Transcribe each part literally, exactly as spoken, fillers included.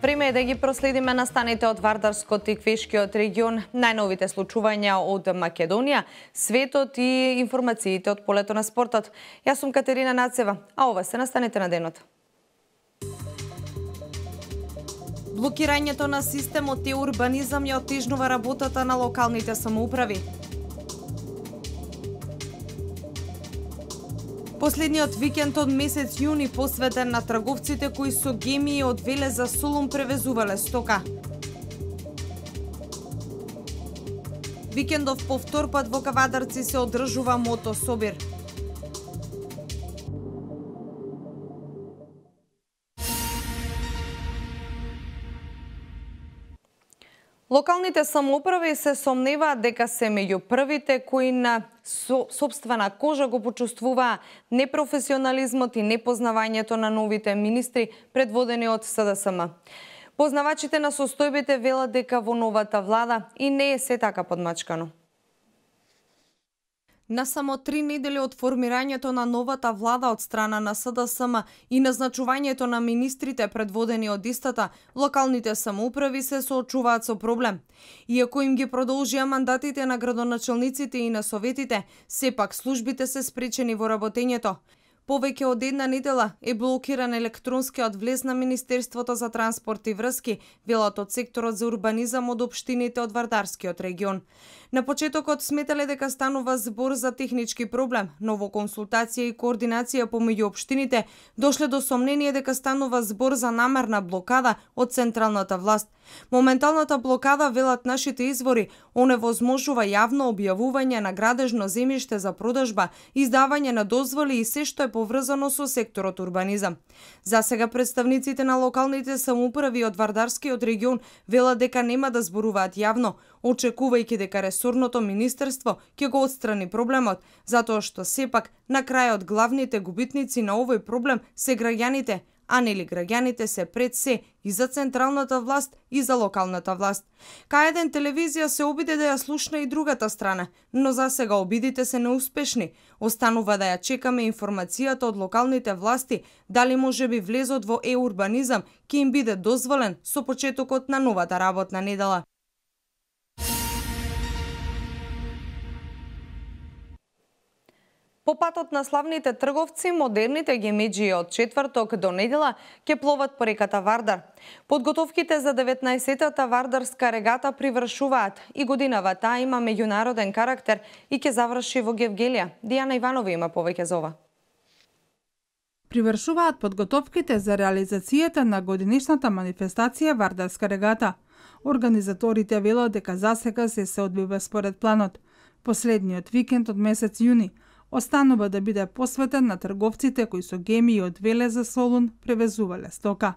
Време е да ги проследиме настаните од Вардарскот и Квешкиот регион, најновите случувања од Македонија, светот и информациите од полето на спортот. Јас сум Катерина Нацева, а ова се настаните на денот. Блокирањето на системот и урбанизам ја оттежнува работата на локалните самоуправи. Последниот викенд од месец јуни посветен на трговците кои со гемии од Велес за Солун превезувале стока. Викендов повтор пат во Кавадарци се одржува мотособир. Локалните самоуправи се сомневаат дека се меѓу првите кои на сопствена кожа го почувствуваа непрофесионализмот и непознавањето на новите министри предводени од С Д С М. Познавачите на состојбите велат дека во новата влада и не е се така подмачкано. На само три недели од формирањето на новата влада од страна на С Д С М и назначувањето на министрите предводени од истата, локалните самоуправи се соочуваат со проблем. Иако им ги продолжија мандатите на градоначалниците и на советите, сепак службите се спречени во работењето. Повеќе од една недела е блокиран електронскиот влез на Министерството за транспорт и врски, велат од секторот за урбанизам од општините од Вардарскиот регион. На почетокот сметале дека станува збор за технички проблем, но во консултација и координација помеѓу општините дошле до сомнение дека станува збор за намерна блокада од централната власт. Моменталната блокада, велат нашите извори, оневозможува јавно објавување на градежно земјиште за продажба, издавање на дозволи и се што е поврзано со секторот урбанизам. За сега представниците на локалните самоуправи од Вардарскиот регион велат дека нема да зборуваат јавно, очекувајќи дека ресорното министерство ќе го отстрани проблемот, затоа што сепак на крајот главните губитници на овој проблем се граѓаните, а нели граѓаните се пред се и за централната власт и за локалната власт. Кај еден телевизија се обиде да ја слушна и другата страна, но за сега обидите се неуспешни. Останува да ја чекаме информацијата од локалните власти, дали можеби влезот во е-урбанизам ќе им биде дозволен со почетокот на новата работна недела. По патот на славните трговци, модерните гемеџии од четврток до недела ќе пловат по реката Вардар. Подготовките за деветнаесеттата Вардарска регата привршуваат и годинава таа има меѓународен карактер и ќе заврши во Гевгелија. Дијана Иванова има повеќе за ова. Привршуваат подготовките за реализацијата на годинишната манифестација Вардарска регата. Организаторите велат дека засега се се одвива според планот. Последниот викенд од месец јуни останува да биде посветен на трговците кои со гемии од Велес за Солун превезувале стока.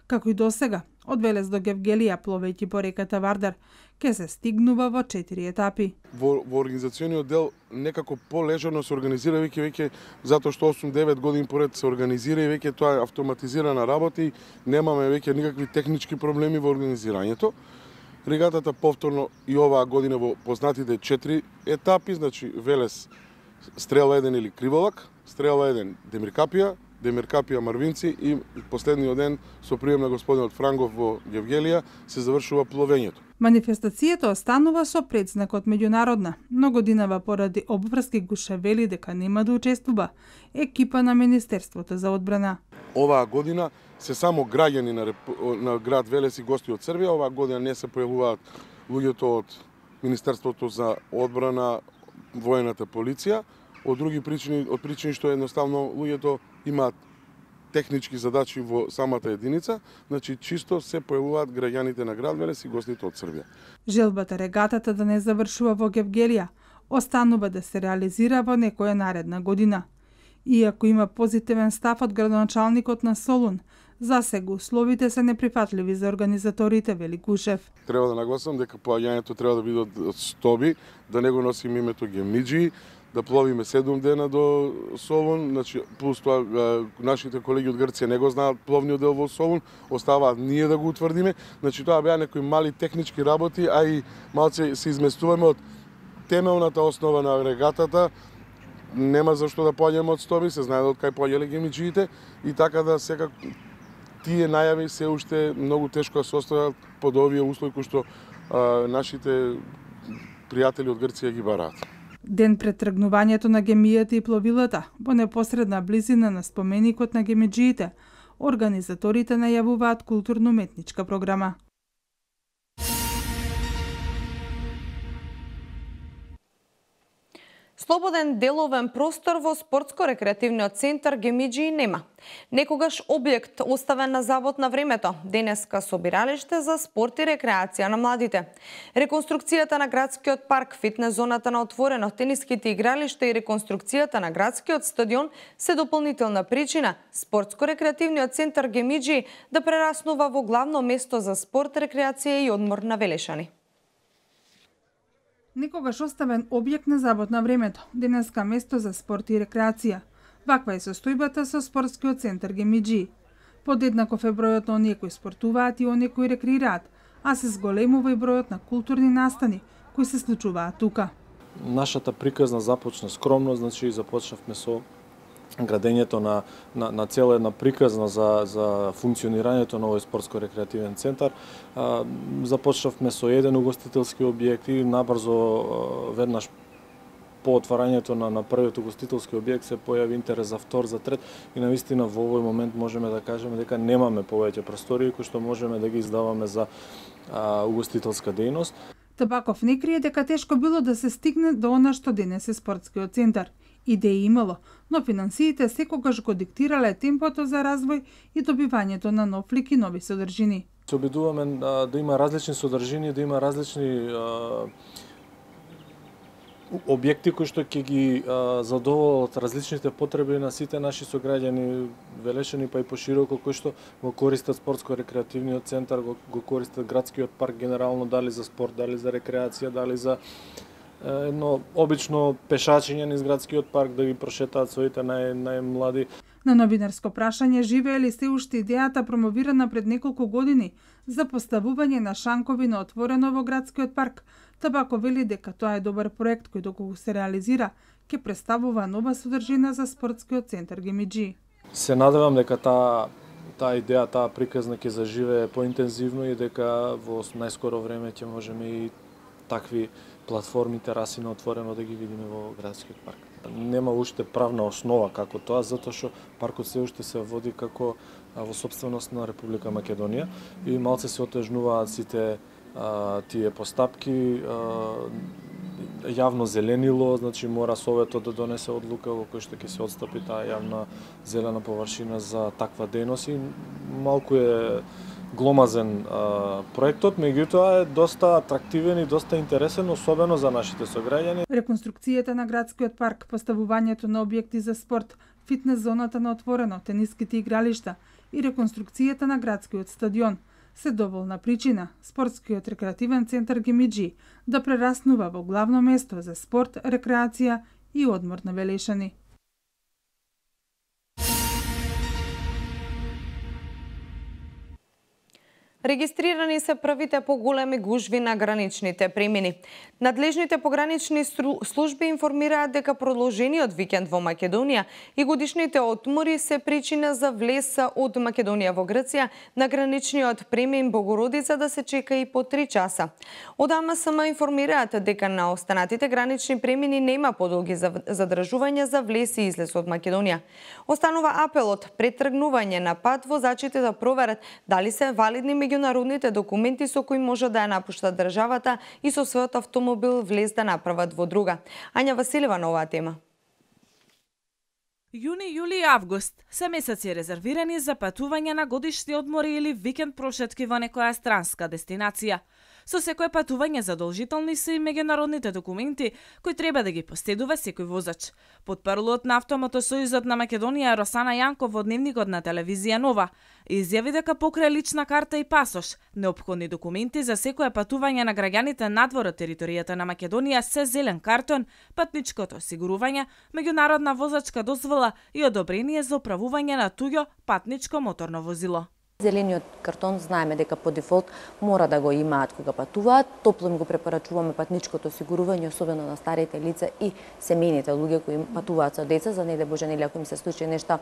Како и досега, од Велес до Гевгелија пловејќи по реката Вардар, ќе се стигнува во четири етапи. Во, во организациониот дел некако полежано се организира веќе веќе затоа што осум-девет години поред се организира и веќе тоа е автоматизирана работа и немаме веќе никакви технички проблеми во организирањето. Регатата повторно и оваа година во познатите четири етапи, значи Велес Стрела еден или Криволак, Стрела еден Демиркапија, Демиркапија Марвинци и последниот ден со прием на господинот Франгов во Гевгелија се завршува пловењето. Манифестацијата останува со предзнакот меѓународна, но годинава поради обврски Гуше вели дека нема да учествува екипа на Министерството за одбрана. Оваа година се само граѓани на, на град Велес и гости од Србија, оваа година не се појавуваат луѓето од Министерството за одбрана, воената полиција, од други причини, од причини што едноставно луѓето имаат технички задачи во самата единица, значи чисто се појавуваат граѓаните на град Велес и гостите од Србија. Желбата регатата да не завршува во Гевгелија останува да се реализира во некоја наредна година. Иако има позитивен став од градоначалникот на Солун, Засега условите се неприфатливи за организаторите, вели Кушев. Треба да нагласам дека поаѓањето треба да биде од Стоби, да не го носим името Гемиџи, да пловиме седум дена до Солун, значи плюс тоа нашите колеги од Грција не го знаат пловниот дел во Солун, оставаат ние да го утврдиме. Значи тоа беа некои мали технички работи, а и малце се изместуваме од темелната основа на регатата. Нема зашто да поаѓаме од Стоби, се знае од кај поаѓале гемиџиите и така да секако тие најави се уште многу тешко да се остават под овие услови кои што а, нашите пријатели од Грција ги бараат. Ден пред тргнувањето на гемијата и пловилата, во непосредна близина на споменикот на гемиџиите, организаторите најавуваат културно-уметничка програма. Слободен деловен простор во спортско-рекреативниот центар Гемиџи нема. Некогаш објект оставен на забот на времето, денеска собиралиште за спорт и рекреација на младите. Реконструкцијата на градскиот парк, фитнес зоната на отворено, тениските игралишта и реконструкцијата на градскиот стадион се дополнителна причина спортско-рекреативниот центар Гемиџи да прераснува во главно место за спорт, рекреација и одмор на Велешани. Некогаш оставен објект на забот на времето, денеска место за спорт и рекреација. Ваква е состојбата со спортскиот центар Гемиџи. Подеднаков е бројот на оние кои спортуваат и оние кои рекреираат, а се зголемува и бројот на културни настани кои се случуваат тука. Нашата приказна започна скромно, значи започнавме со градењето на, на, на цела една приказна за, за функционирањето на овој спортско-рекреативен центар. А, започнавме со еден угостителски објект и набрзо веднаш по отварањето на, на првиот угостителски објект се појави интерес за втор, за трет и навистина во овој момент можеме да кажеме дека немаме повеќе простории кои што можеме да ги издаваме за а, угостителска дејност. Табаков не крие дека тешко било да се стигне до она што денес е спортскиот центар. Идеи имало, но финансиите секогаш го диктирале темпото за развој и добивањето на нов лик и нови содржини. Се обидуваме да, да има различни содржини, да има различни а, објекти кои што ќе ги а, задоволат различните потреби на сите наши сограѓани, Велешани па и пошироко, кои што го користат спортско-рекреативниот центар, го, го користат градскиот парк генерално, дали за спорт, дали за рекреација, дали за едно обично пешачење низ градскиот парк да ги прошетаат своите нај, најмлади. На новинарско прашање живее ли се уште идејата промовирана пред неколку години за поставување на шанкови на отворено во градскиот парк, Табако вели дека тоа е добар проект кој доколку се реализира ќе представува нова содржина за спортскиот центар Гемиџи. Се надевам дека таа таа идеја, таа приказна ќе заживее поинтензивно и дека во најскоро време ќе можеме и такви платформи, тераси на отворено да ги видиме во градскиот парк. Нема уште правна основа како тоа, затоа што паркот се уште се води како во собственост на Република Македонија и малце се отежнуваат сите а, тие постапки. А, јавно зеленило, значи мора Советот да донесе одлука во кој што ќе се отстапи таа јавна зелена површина за таква дејност и малку е гломазен а, проектот, меѓутоа е доста атрактивен и доста интересен, особено за нашите сограѓани. Реконструкцијата на градскиот парк, поставувањето на објекти за спорт, фитнес зоната на отворено, тениските игралишта и реконструкцијата на градскиот стадион се доволна причина спортскиот рекреативен центар Гемиџи да прераснува во главно место за спорт, рекреација и одмор на Велешани. Регистрирани се првите поголеми гужви на граничните премини. Надлежните погранични служби информираат дека продолжениот викенд во Македонија и годишните одмори се причина за влез од Македонија во Грција на граничниот премин Богородица да се чека и по три часа. Од А М С М информираат дека на останатите гранични премини нема подолги задржувања за влез и излез од Македонија. Останува апелот пред тргнување на пат возачите да проверат дали се валидни меѓународните документи со кои може да ја напуштат државата и со својот автомобил влез да направат во друга. Ања Василева на оваа тема. Јуни, јули и август се месеци резервирани за патување на годишни одмори или викенд прошетки во некоја странска дестинација. Со секое патување задолжителни се и меѓународните документи кои треба да ги последува секој возач. Потпарлот на Автомотосојузот на Македонија Росана Јанков во дневникот на телевизија Нова изјави дека покрај лична карта и пасош, неопходни документи за секое патување на граѓаните надвор од територијата на Македонија се зелен картон, патничкото осигурување, меѓународна возачка дозвола и одобрение за управување на туѓо патничко моторно возило. Зелениот картон знаеме дека по дефолт мора да го имаат кога патуваат. Топло им го препорачуваме патничкото осигурување, особено на старите лица и семејните луѓе кои патуваат со деца, за не да боже нели ако им се случи нешто,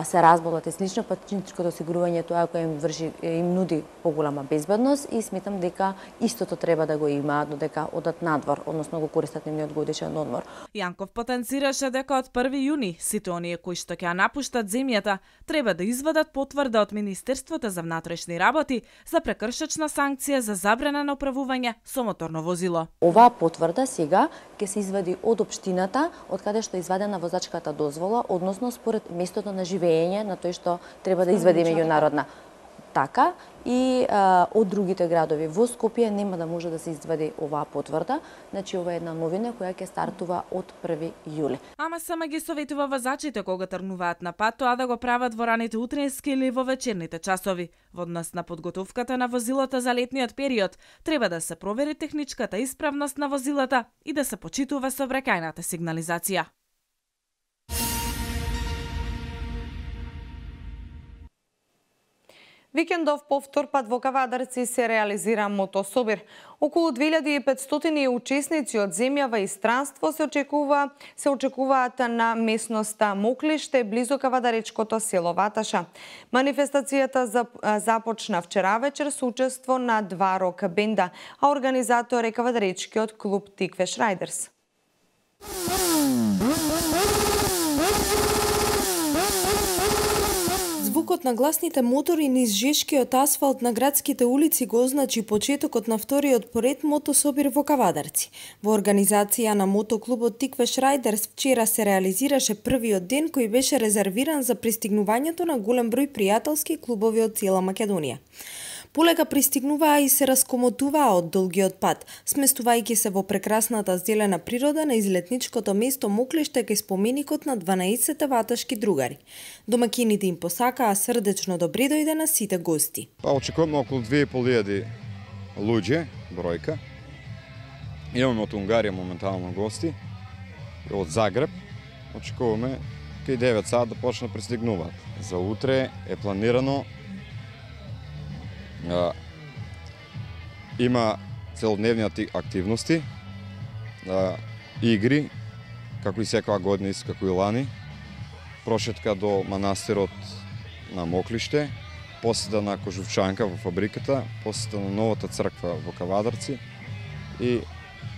се разболат и слично, патничкото осигурување тоа кој им врши им нуди поголема безбедност и сметам дека истото треба да го имаат додека одат надвор, односно го користат нивниот годишен одмор. Јанков потенцираше дека од први јуни сите оние кои што ќе напуштат земјата треба да извадат потврда од Министерството за внатрешни работи за прекршачна санкција за забрана на управување со моторно возило. Оваа потврда сега ќе се извади од општината од каде што е извадена возачката дозвола, односно според местото на живење на тој што треба да извади меѓународна. Така и а, од другите градови во Скопје нема да може да се извади оваа потврда, значи ова е една новина која ќе стартува од први јули. Ама сама ги советува возачите кога тргнуваат на пат тоа да го прават во раните утрински или во вечерните часови. Во однос на подготовката на возилата за летниот период, треба да се провери техничката исправност на возилата и да се почитува сообраќајната сигнализација. Викендов повтор пат во Кавадарци се реализира мотособир. Околу две илјади и петстотини учесници од земјава и странство се очекува се очекуваат на местноста Моклиште близу кавадаречкото село Ваташа. Манифестацијата започна вчера вечер со учество на два рок бенда, а организатор е кавадаречкиот клуб Тиквеш Райдерс. Звукот на гласните мотори низ жешкиот асфалт на градските улици го означи почетокот на вториот поред мотособир во Кавадарци. Во организација на мотоклубот Тиквеш Райдерс вчера се реализираше првиот ден кој беше резервиран за пристигнувањето на голем број пријателски клубови од цела Македонија. Полека пристигнуваа и се раскомотуваа од долгиот пат, сместувајќи се во прекрасната зелена природа на излетничкото место Моклиште кај споменикот на дванаесет ваташки другари. Домакините им посакаа срдечно добре дојде на сите гости. Па очекуваме околу две и пол илјади луѓе, бројка. Имаме од Унгарија моментално гости, од Загреб. Очекуваме кај девет сат да почне да пристигнуваат. За утре е планирано Uh, има целодневни активности, uh, игри, како и секоја година, исто како и лани, прошетка до манастирот на Моклиште, посета на Кожувчанка во фабриката, посета на новата црква во Кавадарци и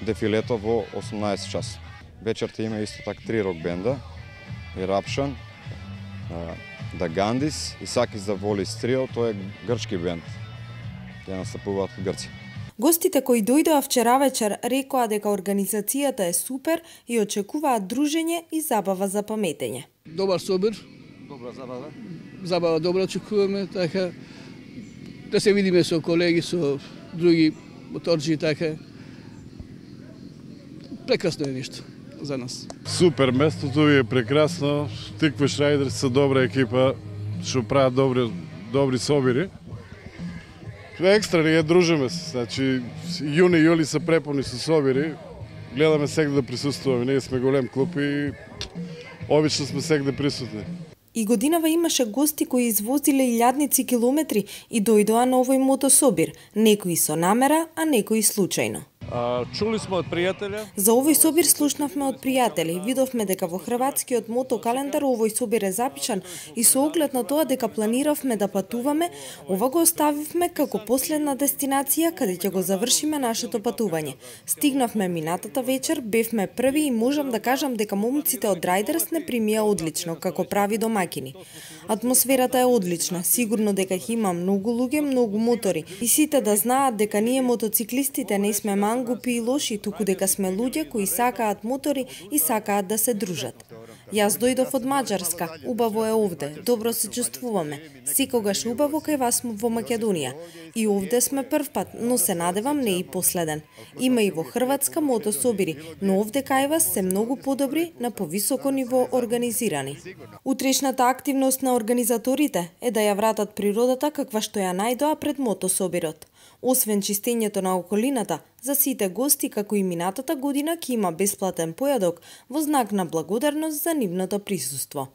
дефилето во осумнаесет часот. Вечерта има исто така три рок бенда, и Рапшан, uh, Да Гандис и Сакис да Волис Трио, тоа е грчки бенд. Ќе настапуваат во Грција. Гостите кои дојдоа вчера вечер рекоа дека организацијата е супер и очекуваат дружење и забава за паметење. Добар собир. Добра забава. Забава добра очекуваме, така да се видиме со колеги, со други моторџи, така. Прекрасно е нешто за нас. Супер, местото ви е прекрасно. Тиквеш Райдерс се добра екипа, што прават добри добри собири. Екстра ние дружиме се, значи јуни и јули се преполни со собири, гледаме сегде да присуствуваме, ние сме голем клуб и обично сме сегде присутни. И годинава имаше гости кои извозиле илјадници километри и дојдоа на овој мотособир, некои со намера, а некои случајно. А, чули сме од пријателја? За овој собир слушнавме од пријатели. Видовме дека во хрватскиот мотокалендар овој собир е запишан и со оглед на тоа дека планиравме да патуваме, ова го оставивме како последна дестинација каде ќе го завршиме нашето патување. Стигнавме минатата вечер, бевме први и можам да кажам дека момците од Райдерс не примија одлично, како прави домакини. Атмосферата е одлична, сигурно дека ќе има многу луѓе, многу мотори и сите да знаат дека ние мотоциклистите не сме мангупи и лоши, туку дека сме луѓе кои сакаат мотори и сакаат да се дружат. Јас дојдов од Маđарска, убаво е овде, добро се чувствуваме. Секогаш убаво кај вас во Македонија. И овде сме прв пат, но се надевам не и последен. Има и во Хрватска мотособири, но овде кај вас се многу подобри, на повисоко ниво организирани. Утрешната активност на организаторите е да ја вратат природата каква што ја најдоа пред мотособирот. Освен чистењето на околината, за сите гости, како и минатата година, ќе има бесплатен појадок во знак на благодарност за нивното присуство.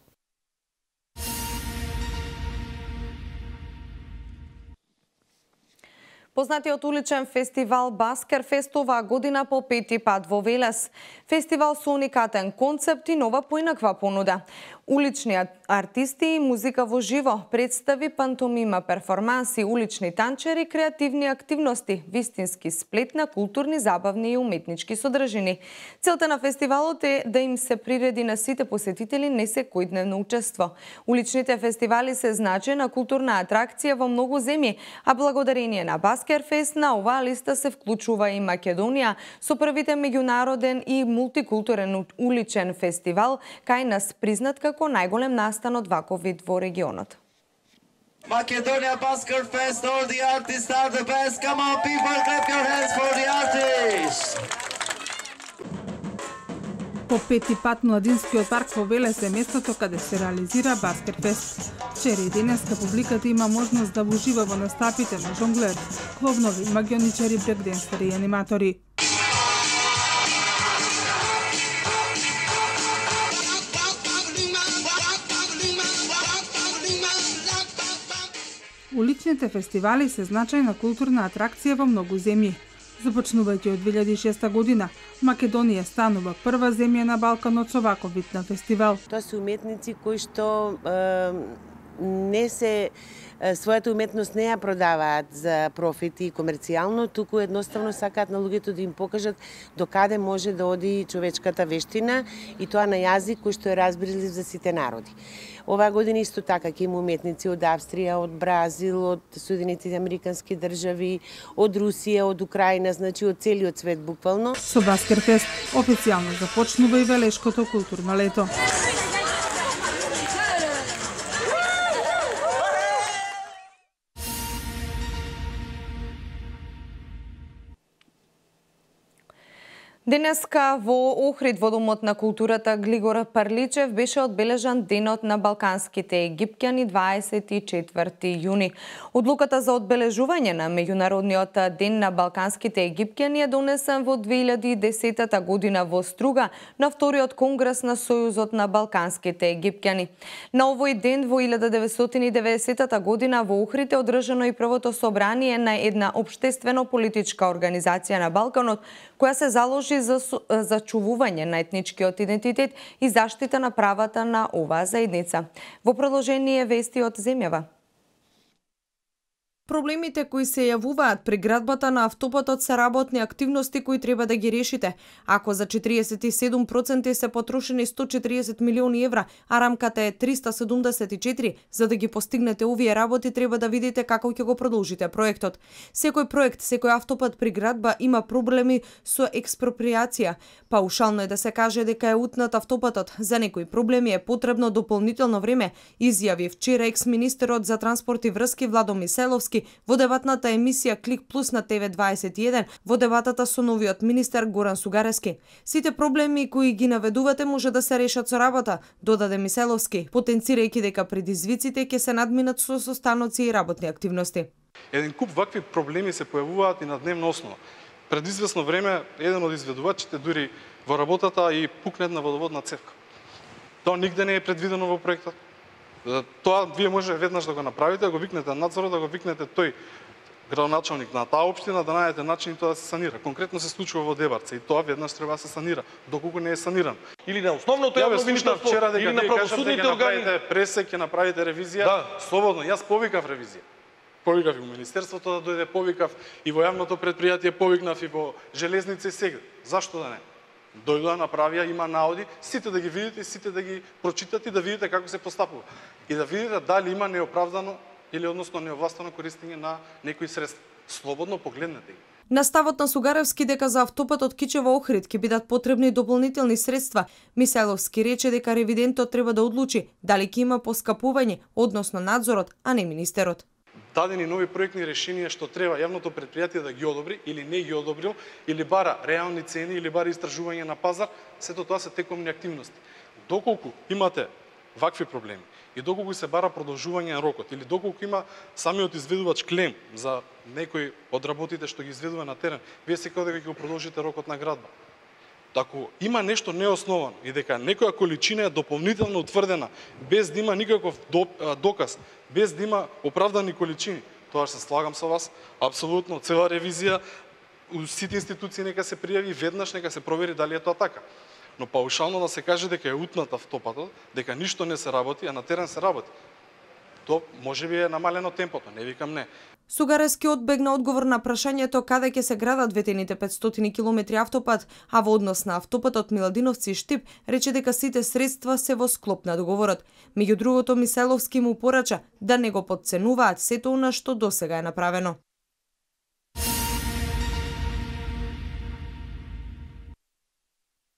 Познатиот уличен фестивал Баскерфест оваа година по пети пат во Велес. Фестивал со уникатен концепт и нова поинаква понуда. Улични артисти и музика во живо, представи, пантомима, перформанси, улични танчери, креативни активности, вистински сплет на културни, забавни и уметнички содржини. Целта на фестивалот е да им се приреди на сите посетители не секојдневно учество. Уличните фестивали се значајна културна атракција во многу земји, а благодарение на Баскерфест на оваа листа се вклучува и Македонија со првите меѓународен и мултикултурен уличен фестивал кај нас признат како најголем настан од ваков вид во регионот. Macedonia Baskerfest, all the artists are the best. Come on people, clap your hands for the artists. По пети пат младинскиот парк во Велес е местото каде се реализира Баскерфест. Вчера и денеска публиката има можност да ужива во настапите на жонглери, кловнови, магионичари, брекденсери и аниматори. Уличните фестивали се значајна културна атракција во многу земји. Започнувајќи од две илјади и шеста година, Македонија станува прва земја на Балканот со ваков вид на фестивал. Тоа се уметници кои што е, не се својата уметност не ја продаваат за профит и комерцијално, туку едноставно сакаат на луѓето да им покажат до каде може да оди човечката вештина и тоа на јазик кој што е разбрилив за сите народи. Оваа година исто така ќе има уметници од Австрија, од Бразил, од Соединетите американски држави, од Русија, од Украина, значи од целиот свет буквално. Со Баскерфест официјално започнува и Велешкото културно лето. Денеска во Охрид во Домот на културата Глигор Парличев беше одбележан Денот на балканските египтјани дваесет и четврти јуни. Одлуката за одбележување на меѓународниот ден на балканските египтјани е донесен во две илјади и десета година во Струга на вториот конгрес на Сојузот на балканските египтјани. На овој ден во илјада деветстотини и деветдесета година во Охрид е одржано и првото собрание на една општествено-политичка организација на Балканот која се заложи за зачувување на етничкиот идентитет и заштита на правата на оваа заедница. Во продолжение вести од земјава. Проблемите кои се јавуваат при градбата на автопатот се работни активности кои треба да ги решите. Ако за четириесет и седум проценти се потрошени сто четириесет милиони евра, а рамката е триста седумдесет и четири, за да ги постигнете овие работи треба да видите како ќе го продолжите проектот. Секој проект, секој автопат при градба има проблеми со експроприација. Паушално е да се каже дека е утнат автопатот. За некои проблеми е потребно дополнително време, изјави вчера екс-министерот за транспорт и врски Владо Миселовски во дебатната емисија Клик Плюс на Т В дваесет и еден во дебатата со новиот министер Горан Сугарески. Сите проблеми кои ги наведувате може да се решат со работа, додаде Миселовски, потенцирајќи дека предизвиците ќе се надминат со состаноци и работни активности. Еден куп вакви проблеми се појавуваат и на дневна основа. Пред известно време еден од изведувачите дури во работата и пукне една водоводна цевка. Тоа нигде не е предвидено во проектот. Тоа вие може веднаш да го направите, да го викнете надзорот, да го викнете тој градоначалник на таа општина, да најдете начин тоа да се санира. Конкретно се случува во Дебарце и тоа веднаш треба да се санира, доколку не е саниран. Или на основното јавно министерство, или на правосудните органи, пресек, ќе направите ревизија. Да. Слободно, јас повикав ревизија. Повикав и во министерството да дојде, повикав и во јавното предпријатие, повикнав и во железница и сега. Зашто да не? Дојдоа, направија, има наоди, сите да ги видите, сите да ги прочитате и да видите како се постапува. И да видите дали има неоправдано или односно неовластено користење на некои средства. Слободно погледнете ги. На ставот на Сугаревски дека за автопатот Кичево-Охрид ќе бидат потребни дополнителни средства, Мисајловски рече дека ревидентот треба да одлучи дали ќе има поскапување, односно надзорот, а не министерот. Дадени нови проектни решенија што треба јавното претпријатие да ги одобри или не ги одобрил, или бара реални цени, или бара истражување на пазар, сето тоа се текомни активности. Доколку имате вакви проблеми и доколку се бара продолжување на рокот, или доколку има самиот изведувач клем за некој од работите што ги изведува на терен, вие секако дека ќе го продолжите рокот на градба. Ако има нешто неосновано и дека некоја количина е дополнително утврдена, без да има никаков доказ, без да има оправдани количини, тоа се слагам со вас, апсолутно, цела ревизија, сите институции нека се пријави веднаш, нека се провери дали е тоа така. Но паушално да се каже дека е утнат автопатот, дека ништо не се работи, а на терен се работи. Тоа можеби е намалено темпото, не викам не. Сугаревски одбегна одговор на прашањето каде ќе се градат ветените петстотини километри автопат, а во однос на автопатот Миладиновци Штип рече дека сите средства се во склоп на договорот. Меѓу другото, Мисајловски му порача да не го потценуваат сето она што досега е направено.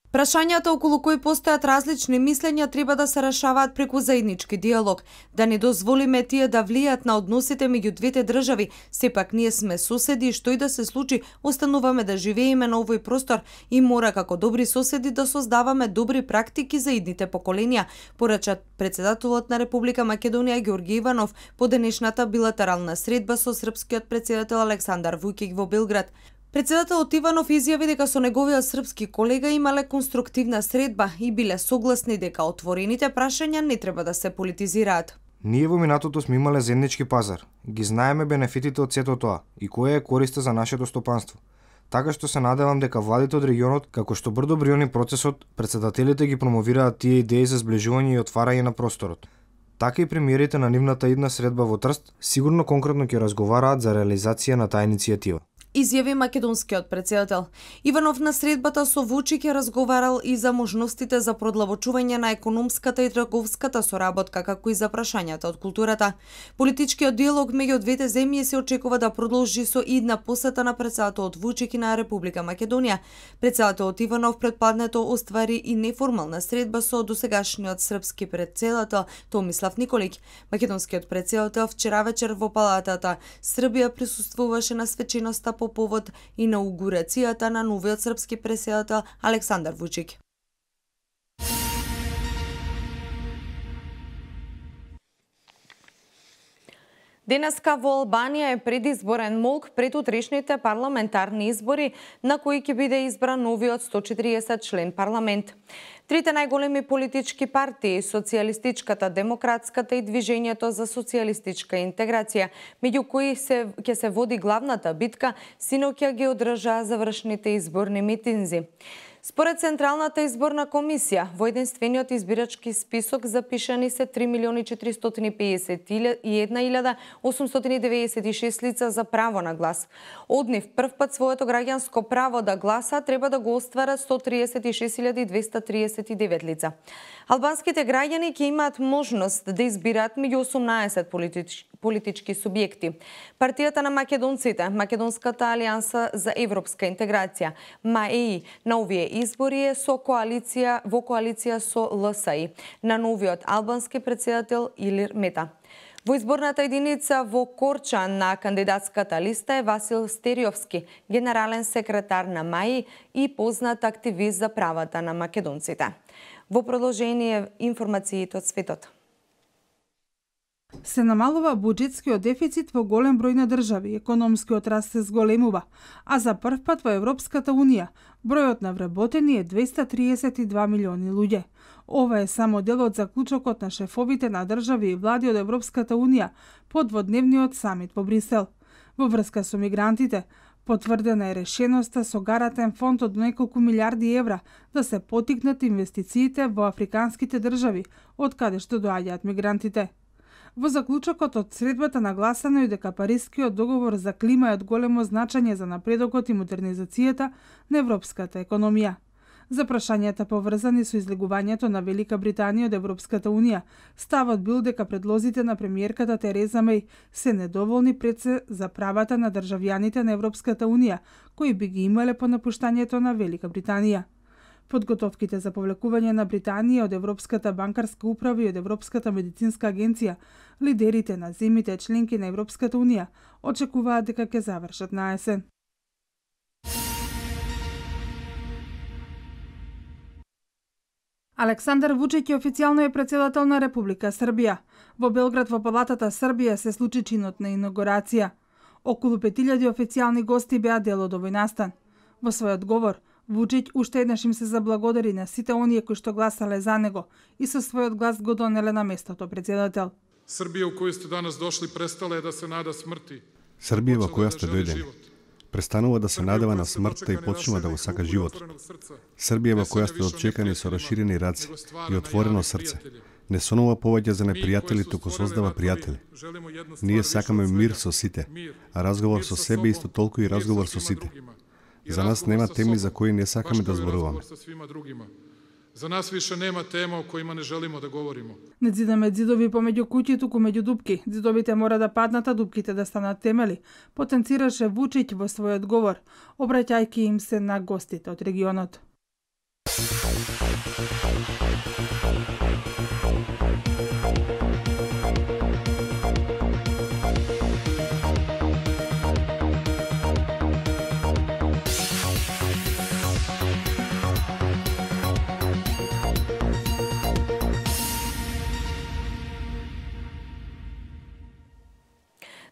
Прашањата околу кои постојат различни мислења треба да се решаваат преку заеднички диалог, да не дозволиме тие да влијат на односите меѓу двете држави. Сепак ние сме соседи и што и да се случи, остануваме да живееме на овој простор и мора како добри соседи да создаваме добри практики за идните поколенија, порача председателот на Република Македонија Ѓорги Иванов по денешната билатерална средба со српскиот председател Александар Вујчич во Белград. Председателот Иванов изјави дека со неговиот српски колега имале конструктивна средба и биле согласни дека отворените прашања не треба да се политизираат. Ние во минатото сме имале заеднички пазар. Ги знаеме бенефитите од сето тоа и која е користа за нашето стопанство. Така што се надевам дека владите од регионот, како што брдо бриони процесот, председателите ги промовираат тие идеи за сближување и отварање на просторот. Така и премиерите на нивната идна средба во Трст сигурно конкретно ќе разговараат за реализација на таа иницијатива. Изјави македонскиот председател. Иванов на средбата со Вучик е разговарал и за можностите за продлабочување на економската и трговската соработка, како и за прашањата од културата. Политичкиот диалог меѓу двете земји се очекува да продолжи со идна посета на председателот Вучик и на Република Македонија. Председателот Иванов предпладнето оствари и неформална средба со досегашниот српски председател Томислав Николиќ. Македонскиот председател вчера вечер во палатата Србија присуствуваше на свеченоста по повод инаугурацијата на новиот српски председател Александар Вујчич. Денеска во Албанија е предизборен молк пред утрешните парламентарни избори, на кои ќе биде избран новиот сто четириесет член парламент. Трите најголеми политички партии, Социјалистичката, Демократската и Движењето за социјалистичка интеграција, меѓу кои се ќе се води главната битка, синоќа ги одржаа завршните изборни митинзи. Според Централната изборна комисија, во единствениот избирачки список запишани се три милиони четиристотини педесет и една илјада осумстотини деведесет и шест лица за право на глас. Од нив прв пат своето граѓанско право да гласа треба да го остварат сто триесет и шест илјади двесте триесет и девет лица. Албанските граѓани ќе имаат можност да избираат меѓу осумнаесет политички политички субјекти. Партијата на македонците, Македонската алијанса за европска интеграција, МАЕИ, на овие избори е со коалиција во коалиција со ЛСИ, на новиот албански председател Илир Мета. Во изборната единица во Корча на кандидатската листа е Васил Стериовски, генерален секретар на МАИ и познат активист за правата на македонците. Во продолжение информациите од светот. Се намалува буџетскиот дефицит во голем број на држави, економскиот раст се зголемува, а за прв пат во Европската Унија бројот на вработени е двесте триесет и два милиони луѓе. Ова е само дел од заклучокот на шефовите на држави и влади од Европската Унија по дводневниот самит во Брисел. Во врска со мигрантите, потврдена е решеноста со гарантен фонд од неколку милиарди евра да се поттикнат инвестициите во африканските држави, од каде што доаѓаат мигрантите. Во заклучокот од средбата нагласено и дека Парискиот договор за клима е од големо значење за напредокот и модернизацијата на европската економија. За прашањата поврзани со излегувањето на Велика Британија од Европската Унија, ставот бил дека предлозите на премиерката Тереза Меј се недоволни пред се за правата на државјаните на Европската Унија, кои би ги имале по напуштањето на Велика Британија. Подготовките за повлекување на Британија од Европската банкарска управа и од Европската медицинска агенција, лидерите на земјите членки на Европската Унија очекуваат дека ќе завршат на есен. Александар Вучиќ официјално е претседател на Република Србија. Во Белград во Палатата Србија се случи чинот на инаугурација. Околу пет илјади официјални гости беа дел од овој настан. Во својот говор, Вучиќ уште еднаш им се заблагодари на сите оние кои што гласале за него и со својот глас го донеле на местото председател. Србија у која сте данас дошли престала е да се нада смрти. Србија во која сте дојдени престанува да се надева на смртта и почнува да го сака животот. Србија во која сте отчекани со расширени раце и отворено срце. Не сонува повеќе за непријатели, туку создава пријатели. Ние сакаме мир со сите, а разговор со себе исто толку и разговор со сите. За нас нема теми за кои не сакаме да зборуваме. За нас више нема тема о којима не желимо да говоримо. Не зидаме зидови помеѓу куќи, туку меѓу дупки. Зидовите мора да паднат, а дупките да станат темели, потенцираше Вучиќ во својот говор, обраќајќи им се на гостите од регионот.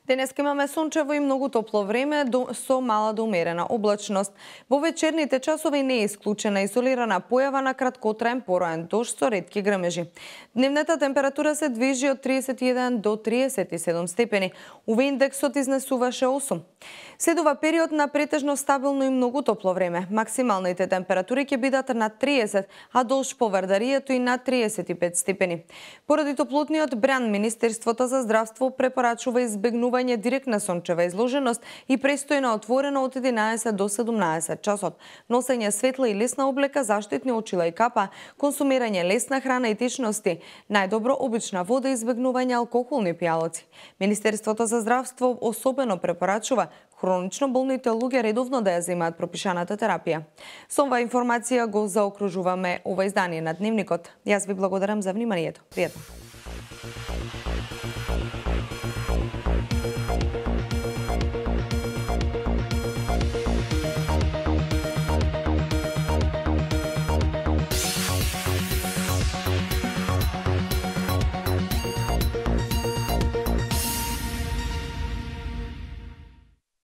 Денес имаме сончево и многу топло време до, со мала до умерена облачност. Во вечерните часови не е исклучена изолирана појава на краткотраен пороен дожд со ретки грмежи. Дневната температура се движи од тридесет и еден до тридесет и седум степени. УВ индексот изнесуваше осум. Следува период на претежно стабилно и многу топло време. Максималните температури ќе бидат на триесет, а долж по Вардаријето и на тридесет и пет степени. Поради топлотниот бран, Министерството за здравство препорачува избегнување директна сончева изложеност и престојна отворена од единаесет до седумнаесет часот. Носење светла и лесна облека, заштитни очила и капа, консумирање лесна храна и течности, најдобро обична вода и избегнување алкохолни пијалоци. Министерството за здравство особено препорачува хронично болните луѓе редовно да ја земаат пропишаната терапија. Со оваа информација го заокружуваме ова издание на Дневникот. Јас ви благодарам за вниманието. Пријатно.